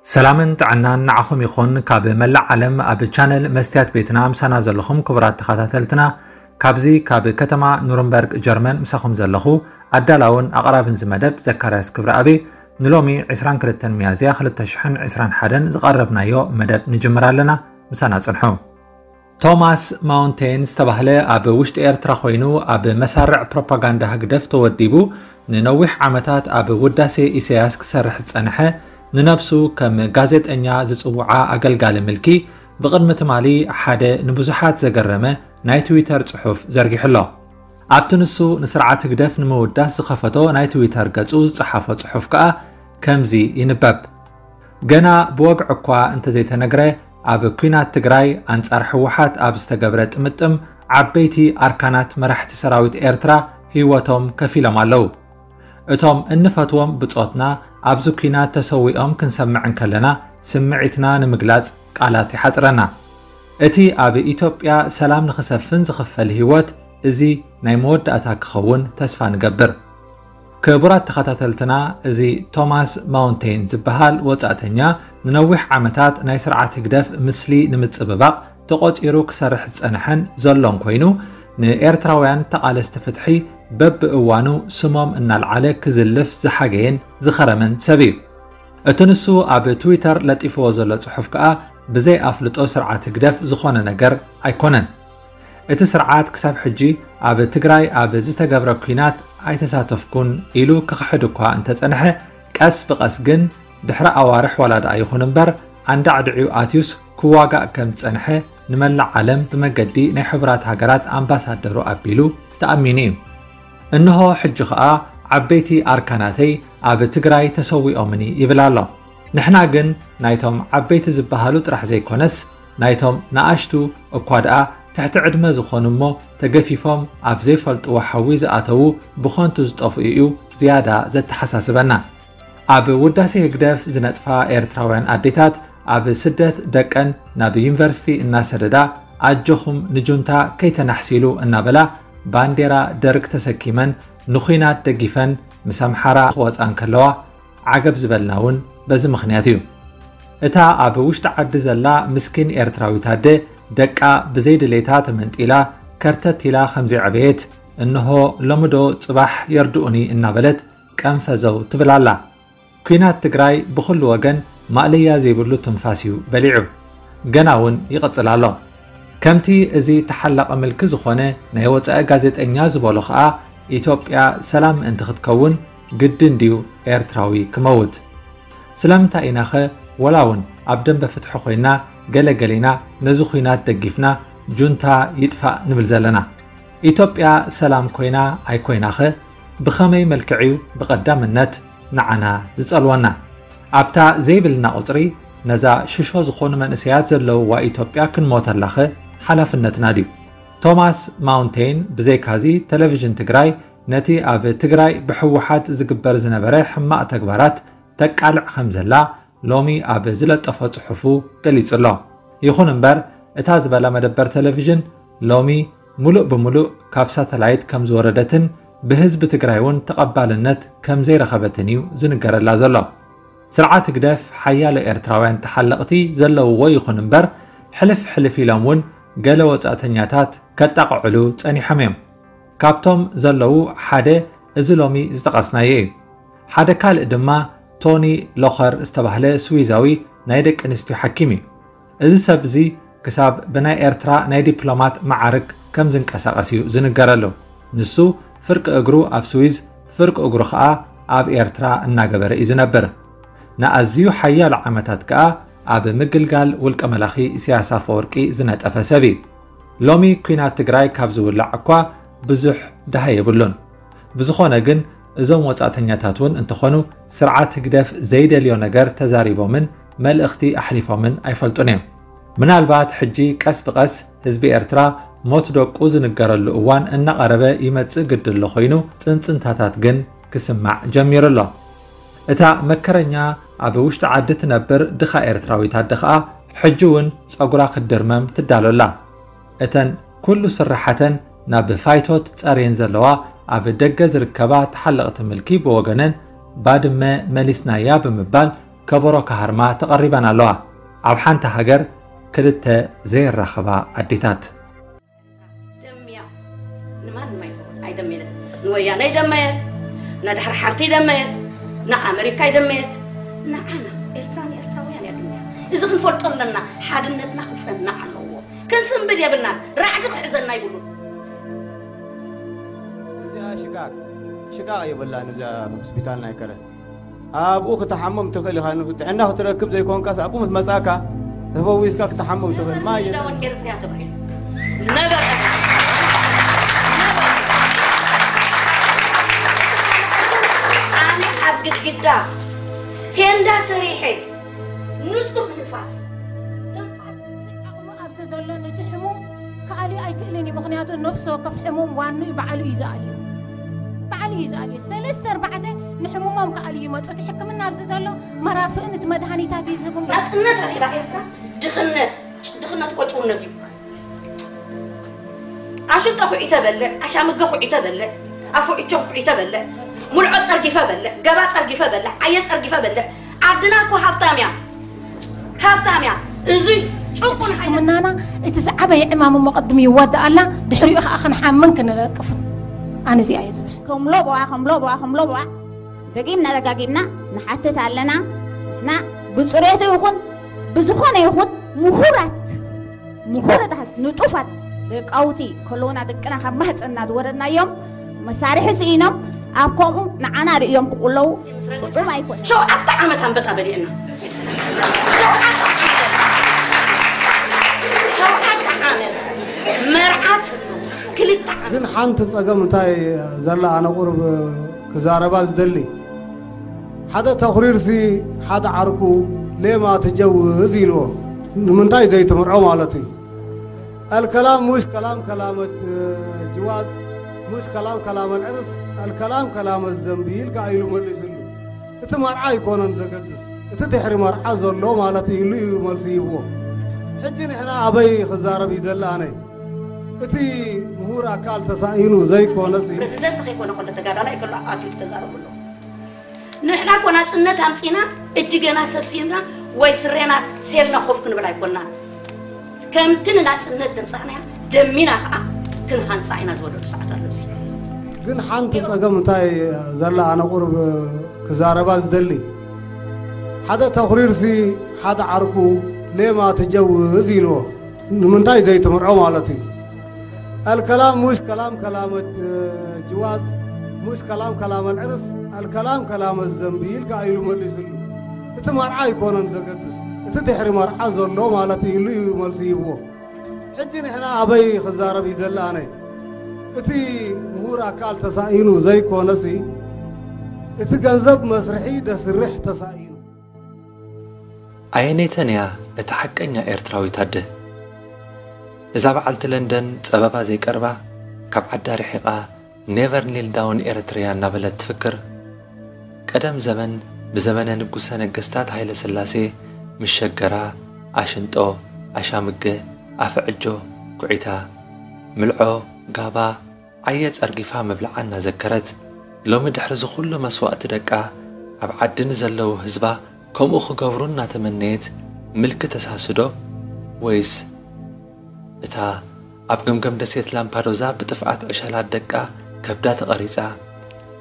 ሰላምን ጥዕናን ንዓኹም ይኹን። ካብ መላእ ዓለም ኣብ ቻነል መስትያት ቤትና ምሳና ዘለኹም ክቡራት ተኸታተልትና፣ ካብዚ ካብ ከተማ ኑርንበርግ ጀርመን ምሳኹም ዘለኹ ኣዳላውን ኣቕራብን እዚ መደብ ዘካርያስ ክብረኣብ። ንሎሚ ዕስራን ክልተን ሚያዝያ ክልተ ሽሕን ዕስራን ሓደን ዝቐረብናዮ መደብ ንጅምር ኣለና። ምሳና ጽንሑ። ቶማስ ማውንቴን ዝተባህለ ኣብ ውሽጢ ኤርትራ ኮይኑ ኣብ መሳርዕ ፕሮፓጋንዳ ህግደፍ ተወዲቡ ንነዊሕ ዓመታት ኣብ ውዳሴ ኢሳያስ ክሰርሕ ዝጸንሐ፣ ንነብሱ ከም ጋዜጠኛ ዝጽውዓ ኣገልጋሊ ምልኪ፣ ብቕድሚ ትማሊ ሓደ ንብዙሓት ዘገረመ ናይ ትዊተር ጽሑፍ ዘርጊሑ ኣሎ። ኣብቲ ንሱ ንስርዓት ህግደፍ ንምውዳስ ዝኸፈቶ ናይ ትዊተር ገጹ ዝጸሓፎ ጽሑፍ ከኣ ከምዚ ይንበብ። ገና ብወግዒ እኳ እንተዘይተነግረ፣ ኣብ ኲናት ትግራይ ኣንጻር ህወሓት ኣብ ዝተገብረ ጥምጥም ዓበይቲ ኣርካናት መራሕቲ ሰራዊት ኤርትራ ህይወቶም ከፊሎም ኣለዉ። እቶም እንፈትዎም ብጾትና ኣብዚ ኲናት ተሰዊኦም ክንሰምዕ እንከለና ስምዒትና ንምግላጽ ቃላት ይሓጽረና። እቲ ኣብ ኢትዮጵያ ሰላም ንኽሰፍን ዝኽፈል ህይወት እዚ ናይ መወዳእታ ክኸውን ተስፋ ንገብር። ክቡራት ተኸታተልትና፣ እዚ ቶማስ ማውንቴን ዝበሃል ወጻእተኛ ንነዊሕ ዓመታት ናይ ስርዓት ህግደፍ ምስሊ ንምጽብባቕ ተቖጺሩ ክሰርሕ ዝጸንሐን ዘሎን ኮይኑ፣ ንኤርትራውያን ተቓለስቲ ፍትሒ በብእዋኑ ስሞም እናልዓለ ክዝልፍ ዝሓገየን ዝኸረመን ሰብ እዩ። እቲ ንሱ ኣብ ትዊተር ለጢፍዎ ዘሎ ጽሑፍ ከኣ ብዘይ ኣፍልጦ ስርዓት ህግደፍ ዝኾነ ነገር ኣይኮነን። እቲ ስርዓት ክሳብ ሕጂ ኣብ ትግራይ ኣብ ዝተገብረ ኲናት ኣይተሳተፍኩን ኢሉ ክኽሕድ እኳ እንተጸንሐ፣ ቀስ ብቐስ ግን ድሕሪ ኣዋርሕ ዋላ ደኣ ይኹን እምበር ኣንዳዕዲዑ ኣትዩስ ክዋጋእ ከም ዝጸንሐ ንመላእ ዓለም ብመገዲ ናይ ሕቡራት ሃገራት ኣምባሳደሩ ኣቢሉ ተኣሚኑ እዩ። እንሆ ሕጂ ኸኣ ዓበይቲ ኣርካናተይ ኣብ ትግራይ ተሰዊኦምኒ ይብል ኣሎ። ንሕና ግን ናይቶም ዓበይቲ ዝበሃሉ ጥራሕ ዘይኮነስ ናይቶም ንኣሽቱ እኳ ደኣ ትሕቲ ዕድመ ዝኾኑ እሞ ተገፊፎም ኣብ ዘይፈልጥዎ ሓዊ ዝኣተዉ ብኸንቱ ዝጠፍኡ እዩ ዝያዳ ዘተሓሳስበና። ኣብ ውዳሴ ህግደፍ ዝነጥፋ ኤርትራውያን ኣዴታት ኣብ ስደት ደቀን ናብ ዩኒቨርሲቲ እናሰደዳ ኣጆኹም ንጁንታ ከይተናሕሲሉ እናበላ ባንዴራ ደርግ ተሰኪመን ንኹናት ደጊፈን ምስ ኣምሓራ ክወጻ እንከለዋ ዓገብ ዝበልና እውን በዚ ምኽንያት እዩ። እታ ኣብ ውሽጢ ዓዲ ዘላ ምስኪን ኤርትራዊት ኣደ ደቃ ብዘይ ድሌታ ተመንጢላ ከርተት ኢላ ከም ዘይዐበየት እንሆ ሎሚ ዶ ጽባሕ የርድኡኒ እናበለት ቀንፈዘው ትብል ኣላ። ኲናት ትግራይ ብኹሉ ወገን ማእለያ ዘይብሉ ትንፋስ እዩ በሊዑ። ገና እውን ይቕጽል ኣሎ። ከምቲ እዚ ተሓላቒ ምልኪ ዝኾነ ናይ ወጻኢ ጋዜጠኛ ዝበሎ ኸኣ፣ ኢትዮጵያ ሰላም ምእንቲ ክትከውን ግድን ድዩ ኤርትራዊ ክመውት? ስለምንታይ ኢናኸ ወላ እውን ኣብ ደንበ ፍትሒ ኮይና ገለ ገሊና ነዚ ኹናት ደጊፍና ጁንታ ይጥፋእ ንብል ዘለና? ኢትዮጵያ ሰላም ኮይና ኣይኮይናኸ ብኸመይ መልክዕ'ዩ ብቐዳምነት ንዓና ዝጸልወና? ኣብታ ዘይብልና ቁጽሪ ነዛ ሽሾ ዝኾኑ መንእሰያት ዘለውዋ ኢትዮጵያ ክንሞተላኸ ሓላፍነትና ድዩ? ቶማስ ማውንቴን ብዘይካዚ ቴሌቪዥን ትግራይ ነቲ ኣብ ትግራይ ብህወሓት ዝግበር ዝነበረ ሕማቕ ተግባራት ተቃልዕ ከም ዘላ ሎሚ ኣብ ዝለጠፎ ጽሑፉ ገሊጹ ኣሎ። ይኹን እምበር እታ ዝበላ መደበር ቴሌቪዥን ሎሚ ሙሉእ ብሙሉእ ካብ ሳተላይት ከም ዝወረደትን ብህዝቢ ትግራይ እውን ተቐባልነት ከም ዘይረኸበትን እዩ ዝንገረላ ዘሎ። ስርዓት ህግደፍ ሓያሎ ኤርትራውያን ተሓለቕቲ ዘለውዎ ይኹን እምበር ሕልፍ ሕልፍ ኢሎም እውን ገለ ወጻእተኛታት ከጣቕዕሉ ጸኒሖም እዮም። ካብቶም ዘለዉ ሓደ እዚ ሎሚ ዝጠቐስናዮ እዩ። ሓደ ካልእ ድማ ቶኒ ሎኸር ዝተባህለ ስዊዛዊ ናይ ደቂ ኣንስትዮ ሓኪም እዩ። እዚ ሰብ እዚ ክሳብ ብናይ ኤርትራ ናይ ዲፕሎማት መዓርግ ከም ዝንቀሳቐስ እዩ ዝንገረሉ። ንሱ ፍርቂ እግሩ ኣብ ስዊዝ፣ ፍርቂ እግሩ ኸኣ ኣብ ኤርትራ እናገበረ እዩ ዝነብር። ንኣዝዩ ሓያሎ ዓመታት ከኣ ኣብ ምግልጋል ውልቀ መላኺ ኢሳያስ ኣፈወርቂ ዝነጠፈ ሰብ እዩ። ሎሚ ኲናት ትግራይ ካብ ዝውላዕ እኳ ብዙሕ ደሃይ የብሉን። ብዝኾነ ግን እዞም ወጻእተኛታት እውን እንተኾኑ ስርዓት ህግደፍ ዘይደልዮ ነገር ተዛሪቦምን መልእኽቲ ኣሕሊፎምን ኣይፈልጡን እዮም። ምናልባት ሕጂ ቀስ ብቐስ ህዝቢ ኤርትራ ሞት ደቁ ዝንገረሉ እዋን እናቐረበ ይመጽእ ግዲ ኣሎ ኮይኑ ጽንጽንታታት ግን ክስማዕ ጀሚሩ ኣሎ። እታ መከረኛ ኣብ ውሽጢ ዓዲ ትነብር ድኻ ኤርትራዊት ኣደ ኸኣ ሕጂ እውን ጸጉራ ክትድርመም ትዳሎ ኣላ። እተን ኩሉ ስርሓተን ናብ ፋይቶት ጸርየን ዘለዋ ኣብ ደገ ዝርከባ ተሓለቕቲ ምልኪ ብወገነን ባድመ መሊስናያ ብምባል ከበሮ ክሃርማ ተቐሪበን ኣለዋ። ኣብ ሓንቲ ሃገር ክልተ ዘይራኸባ ኣዴታት። ደምያ ንማንም ኣይኮ ኣይደመየት። ንወያነ ይደመየት፣ ንድሕሪ ሓርቲ ይደመየት፣ ንኣመሪካ ይደመየት። ንዓና ኤርትራ ንኤርትራውያን እያ ደምያ። እዚ ክንፈልጦ ኣለና። ሓድነትና ክጸናዕ ኣለዎ። ክንስንብድ የብልናን። ራዕዲ ክሕዘና ይብሉን። እዚኣ ሽቃቅ ሽቃቅ የብላን። እዚኣ ሆስፒታል ናይ ከረ ኣብኡ ክትሓምም ትኽእል ኢኻ። ጥዕና ክትረክብ ዘይኮንካስ ኣብኡ ምስ መጻእካ ተፈዊስካ ክትሓምም ትኽእል። ማየ ዳውን ኤርትርያ ተባሂሉ ነበረ። ኣነ ኣብ ግድግዳ ቴንዳ ሰሪሐ ንጹህ ንፋስ ትንፋስ ዓቕሙ ኣብዚ ዘሎ ነቲ ሕሙም ክኣልዩ ኣይክእልን እዩ። ምኽንያቱ ነፍሲ ወከፍ ሕሙም ዋንኡ ባዕሉ እዩ ዝኣልዩ። ባዕሉ እዩ ዝኣልዩ። ሰለስተ ኣርባዕተ ንሕሙሞም ክኣልዩ ይመፁ። እቲ ሕክምና ኣብዚ ዘሎ መራፍእን እቲ መድሃኒታት እዩ ዝህቡ። ናፅነት ረኺባ ኤርትራ ድኽነት ድኽነት እኮ ጭውነት እዩ። ኣሽንጦ ኩዒተ በልዕ፣ ኣሻምገ ኩዒተ በልዕ፣ ኣፉ ዕቾ ኩዒተ በልዕ፣ ሙልዖ ጸርጊፈ በልዕ፣ ገባ ጸርጊፈ በልዕ፣ ዓየ ጸርጊፈ በልዕ። ዓድና እኮ ሃብታም እያ፣ ሃብታም እያ። እዙይ ጭቁን ዓይነት ሕክምናና እቲ ዝዓበየ ዕማም እሞ ቅድሚ ይወዳእ ኣላ፣ ድሕሪኡ ከዓ ክንሓምን ክንለቅፍን። ኣነ እዚኣ እየ ዝብል። ከምሎቦዋ ከምሎቦዋ ከምሎቦዋ ደጊምና ደጋጊምና ንሓትት ኣለና። ንሕና ብፅሬቱ ይኹን ብዝኾነ ይኹን ምሁራት ምሁራት ንጡፋት ደቃውቲ ከለውና ደቅና ካብ ማህፀንና ዝወረድናዮም መሳርሒ ስኢኖም ኣብ ከምኡ ንዓና ርእዮም ክቁለዉ ጥዑም ኣይኮነን። ሸውዓተ ዓመት ኣንበጣ በሊዕና። ሸውዓተ ዓመት። ሸውዓተ ዓመት መርዓት ክልተ ዓመት። ግን ሓንቲ ጸገም እንታይ ዘላ ኣነ ቁርብ ክዛረባ ዝደሊ ሓደ ተኹሪርሲ ሓደ ዓርኩ ሌማ ትጀውዝ ኢልዎ ንምንታይ ዘይትምርዖ ማለት እዩ። الكلام مش كلام كلام الجواز مش كلام كلام العرس الكلام كلام الذنب ኢልካ ኢሉ መሊስሉ። እቲ መርዓ ኣይኮነን ዘገድስ እቲ ድሕሪ መርዓ ዘሎ ማለት ኢሉ እዩ መልሲ ይብዎ። ሕጂ ንሕና ኣበይ ክዛረብ ይደሊ ኣነ እቲ ምሁር ኣካል ተሳኢኑ ዘይኮነስ እዩ። ፕረዚደንት ከይኮነ ከሎ ተጋዳላይ ከሎ ኣትዩ ተዛረቡ ኣሎ። ንሕና እኮ ናፅነት ኣምፂና እጅገና ሰብሲብና ወይ ስሬና ሴልና ኮፍ ክንብል ኣይኮና። ከምቲ ንናፅነት ዘምፃእናያ ደሚና ከዓ ክንሃንፃ ኢና ዝበለሉ ሰዓት ኣሎ። እዚ ግን ሓንቲ ፀገም እንታይ ዘላ ኣነ ቁርብ ክዛረባ ዝደሊ ሓደ ተኹሪርሲ ሓደ ዓርኩ ሌማ ትጀውዝ ኢልዎ ንምንታይ ዘይትምርዖ ማለት እዩ። الكلام مش كلام كلام الجواز مش كلام كلام العرس الكلام كلام الذنب ኢልካ ኢሉ መሊስሉ። እቲ መርዓ ኣይኮነን ዘገድስ እቲ ድሕሪ መርዓ ዘሎ ማለት ኢሉ እዩ መልሲ ይብዎ። ሕጂ ንሕና ኣበይ ክዛረብ ይደሊ ኣነ እቲ ምሁር ኣካል ተሳኢኑ ዘይኮነሲ እቲ ገንዘብ መስርሒ ደስርሕ ተሳኢኑ። ኣየነይተን እያ እታ ሓቀኛ ኤርትራዊት ኣደ? እዛ በዓልቲ ለንደን ጸበባ ዘይቀርባ ካብ ዓዳ ርሒቓ ኔቨር ኒል ዳውን ኤረትርያ እናበለት ትፍክር። ቀደም ዘመን ብዘመነ ንጉሰ ነገስታት ሃይለ ስላሴ ምስ ሸገራ ኣሽንጦ፣ ኣሻምገ፣ ኣፈዕጆ፣ ኩዒታ፣ ምልዖ፣ ጋባ፣ ዓየ ጸርጊፋ ምብላዓ እናዘከረት፣ ሎሚ ድሕሪ እዚ ኩሉ መስዋእቲ ደቃ ኣብ ዓዲ ንዘለዉ ህዝባ ከምኡ ክገብሩ እናተመነየት ምልኪ ተሳስዶ? ወይስ እታ ኣብ ገምገም ደሴት ላምፓዶዛ ብጥፍኣት ዕሸላት ደቃ ከብዳ ተቐሪጻ፣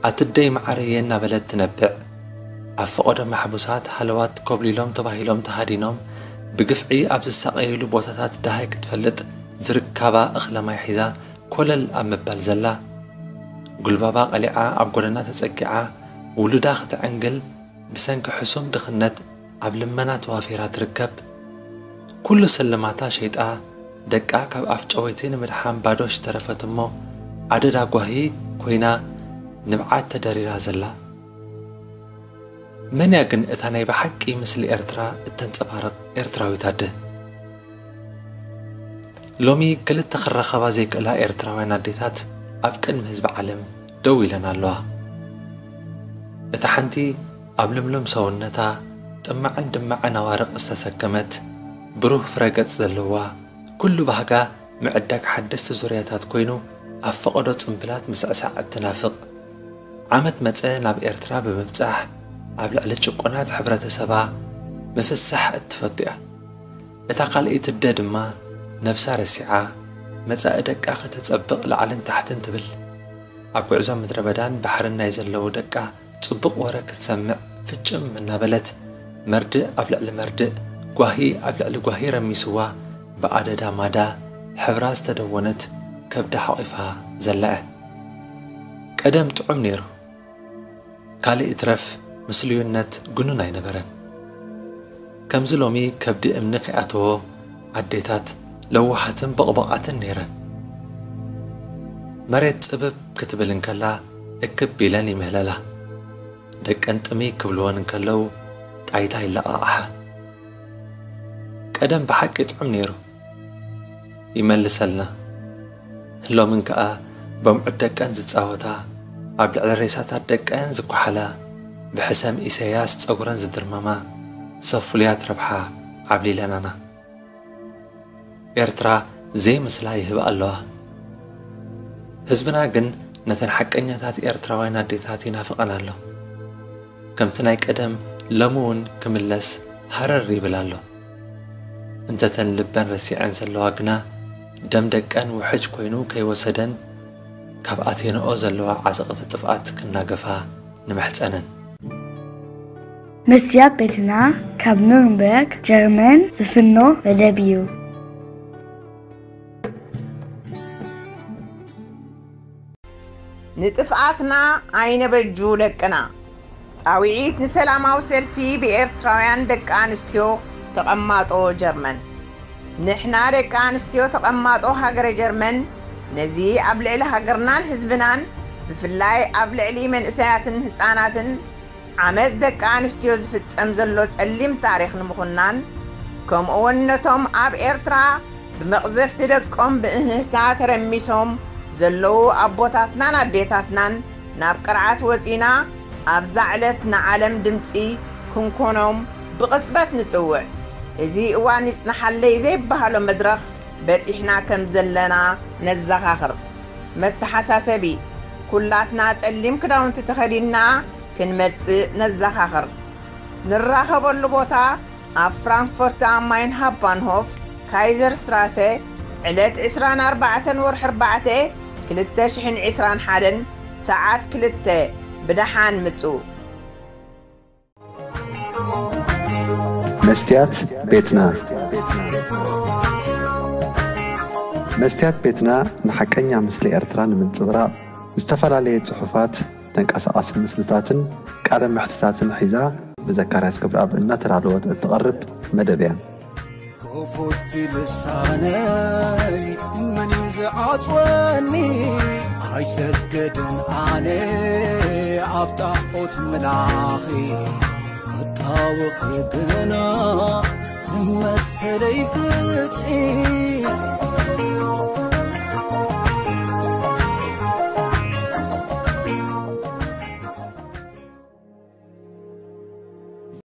ኣትደይ መዓረየ እናበለት ትነብዕ፣ ኣብ ፈቐዶ ማሕቡሳት ሃለዋት ኮብሊሎም ተባሂሎም ተሃዲኖም ብግፍዒ ኣብ ዝሳቐይሉ ቦታታት ደሃይ ክትፈልጥ ዝርካባ እኽለ ማይ ሒዛ ኮለል ኣብ ምባል ዘላ፣ ጉልባባ ቀሊዓ ኣብ ጎደና ተጸጊዓ ውሉዳ ክትዕንግል ብሰንኪ ሕሱም ድኽነት ኣብ ልመና ተዋፊራ ትርከብ። ኩሉ ስልማታ ሸይጣ ደቃ ካብ ኣፍ ጨወይቲ ንምድሓን ባዶ ዝተረፈት እሞ ኣደዳ ጓሂ ኮይና ንብዓት ተደሪራ ዘላ። መን እያ ግን እታ ናይ ብሓቂ ምስሊ ኤርትራ እተንጸባርቕ ኤርትራዊት ኣደ? ሎሚ ክልተ ክራኸባ ዘይክእላ ኤርትራውያን ኣዴታት ኣብ ቅድሚ ህዝቢ ዓለም ደው ኢለን ኣለዋ። እታ ሓንቲ ኣብ ልምሉም ሰውነታ ጥማዕን ድማዕን ኣዋርቕ ዝተሰከመት ብሩህ ፍረ ገጽ ዘለዋ ኩሉ ባህጋ ምዕዳግ ሓደስቲ ዙርያታት ኮይኑ ኣብ ፈቐዶ ጽምብላት ምስዕሳዕ እትናፍቕ ዓመት መጸ ናብ ኤርትራ ብምብጻሕ ኣብ ልዕሊ ጭቁናት ሕብረተሰባ ምፍሳሕ እትፈቱ እያ። እታ ካልኣይቲ ኣደ ድማ ነብሳ ረሲዓ መጻኢ ደቃ ከተጸብቕ ላዕልን ታሕትን ትብል። ኣብ ጉዕዞ ምድረ በዳን ባሕርን ናይ ዘለዉ ደቃ ጽቡቕ ወረ ክትሰምዕ ፍጭም እናበለት፣ መርድእ ኣብ ልዕሊ መርድእ፣ ጓሂ ኣብ ልዕሊ ጓሂ ረሚስዋ፣ ብኣደዳ ማዳ ሕብራ ዝተደወነት ከብዳ ሓቒፋ ዘለዐ። ቀደም ጥዑም ነይሩ። ካልእ ይትረፍ ምስሉይነት ግኑን ኣይነበረን። ከምዚ ሎሚ ከብዲ እምኒ ከይኣተዎ ኣዴታት ለዋሃትን በቕበቓትን ነይረን። መሬት ጽብብ ክትብል እንከላ እክብ ኢለን ይምህለላ። ደቀን ጥምይ ክብልወን እንከለዉ ጣይታ ይለቓቕሓ። ቀደም ብሓቂ ጥዑም ነይሩ። ይመልሰልና። ሎምን ከኣ በምዑት ደቀን ዝጻወታ፣ ኣብ ልዕሊ ሬሳታት ደቀን ዝኳሓላ፣ ብሕሰም ኢሰያስ ጸጉረን ዝድርመማ፣ ሰብ ፍሉያት ረብሓ ዓብሊለናና። ኤርትራ ዘይምስላ ይህባ ኣለዋ። ህዝብና ግን ነተን ሓቀኛታት ኤርትራውያን ኣዴታት ይናፍቐን ኣሎ። ከምቲ ናይ ቀደም ሎሚ እውን ክምለስ ሃረር ይብል ኣሎ። እንተተን ልበን ረሲዐን ዘለዋ ግና፣ ደም ደቀን ውሕጅ ኮይኑ ከይወሰደን፣ ካብ ኣቴንኦ ዘለዋ ዓዘቕቲ ጥፍኣት ክናገፋ ንምሕጸነን። መስትያት ቤትና ካብ ኑርንበርግ ጀርመን ዝፍኖ መደብ እዩ። ንጥፍኣትና ኣይነበጁ ደቅና። ጻውዒት ንሰላማዊ ሰልፊ ብኤርትራውያን ደቂ ኣንስትዮ ተቐማጦ ጀርመን። ንሕና ደቂ ኣንስትዮ ተቐማጦ ሃገረ ጀርመን ነዚ ኣብ ልዕሊ ሃገርናን ህዝብናን ብፍላይ ኣብ ልዕሊ መንእሰያትን ህጻናትን ዓመጽ ደቂ ኣንስትዮ ዝፍጸም ዘሎ ጸሊም ታሪኽ ንምኹናን፣ ከምኡውን ነቶም ኣብ ኤርትራ ብመቕዘፍቲ ደቆም ብእህህታ ተረሚሶም ዘለዉ ኣቦታትናን ኣዴታትናን ናብ ቅርዓት ወጺና ኣብዛ ዕለት ንዓለም ድምጺ ክንኮኖም ብቕጽበት ንጽውዕ። እዚ እዋን ይጽናሓለይ ዘይበሃሎ መድረኽ በጺሕና ከም ዘለና ነዘኻኽር። መተሓሳሰቢ፣ ኩላትና ጸሊም ክዳውንቲ ተኸዲንና ክንመጽእ ነዘኻኽር። ንራኸበሉ ቦታ ኣብ ፍራንክፈርት ኣም ማይንሃፕ ባንሆፍ ካይዘር ስትራሰ ዕለት ዕስራን ኣርባዕተን ወርሒ ኣርባዕተ ክልተ ሽሕን ዕስራን ሓደን ሰዓት ክልተ ብደሓን ምጹ። መስትያት ቤትና መስትያት ቤትና ንሓቀኛ ምስሊ ኤርትራ ንምንጽብራቕ ዝተፈላለየ ጽሑፋት፣ ተንቀሳቓሲ ምስልታትን ቃለ መሕትታትን ሒዛ ብዘካርያስ ክብረኣብ እናተዳለወት እትቐርብ መደብ እያ። ክፉት ልሳነይ መን እዩ ዝዓጽወኒ? ኣይሰገድን ኣነ ኣብ ጣዖት ምላኺ ክጣወኺ ግና ንመሰለይ ፍትሒ